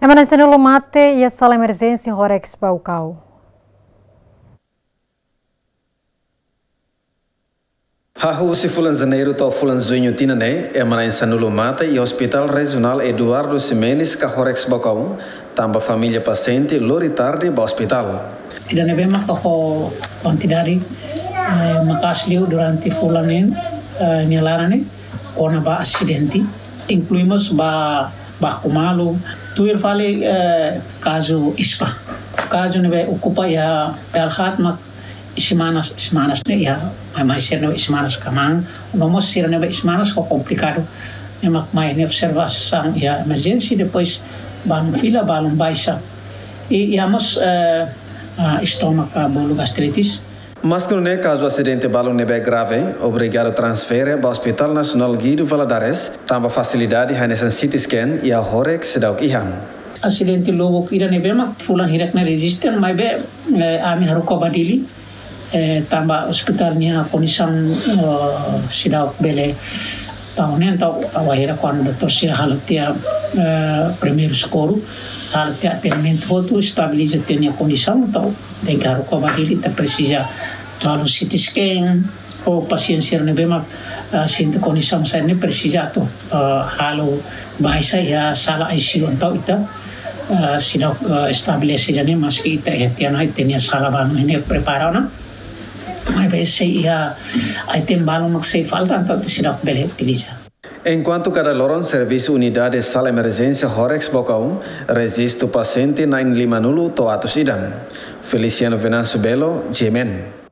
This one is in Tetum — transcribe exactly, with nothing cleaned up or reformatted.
Ema na'in-sanulu mate iha sala emerjénsia Horex Baucau. Hahú husi fulan Janeiru to'o fulan Juñu tinan ne'e, ema na'in-sanulu mate iha Hospital Rejionál Eduardo Ximenes ka Horex Baucau, tanba família pasiente lori tarde ba ospitál. Ida ne'ebé mak ho kuantidade, eh, maka'as liu durante fulan ne'e, eh, nia laran ne'e, kona-ba asidente, inklui mós ba, baku malu, tuir fali, eh, kazu ispa. Kazu ne'ebé okupa iha Belhat mak isin-manas, isin-manas ne'e iha, mai, mai sira ne'ebé isin-manas kmaan, no mós sira ne'ebé isin-manas ho komplikadu. Ne'e mak mai ne'e observasaun iha emerjénsia, depois balun fila, balun baixa. I, iha mós, eh, ah, estómagu, bolu gastritis. Maski nune'e, kazu asidente balun ne'ebé grave, obrigadu transfere ba Hospital Nasionál Guido Valadares, tanba fasilidade hanesan C T scan iha Horex seidauk iha. Asidente lubuk ida ne'ebé mak fulan hirak ne'e rejista, maibé, eh, ami haruka ba Dili, eh, tanba ospitál nia kondisaun, eh, seidauk bele tau ne'e, entaun wainhira kuandu doutór sira halo tiha, eh, primeiru sokorru, halo tiha atendimentu hotu, estabiliza tiha nia kondisaun, entaun tenke haruka ba Dili, ita presiza atu halo C T scan, ou pasiente sira ne'ebé mak, ah, sente kondisaun saida ne'e presiza atu, ah, halo baixa iha sala I C U, entaun ita, ah, seidauk, ah, estabelese ida-ne'e, maski ita iha tiha ona, ita-nia sala balun ne'e prepara ona. Maibé se iha item balun mak sei falta, entaun ita seidauk bele utiliza. Enkuantu kada loron servisu unidade sala emerjénsia Horex Baucau rejistu pasiente na'in-limanulu to'o atus ida. Feliciano Venâncio Belo, G M N.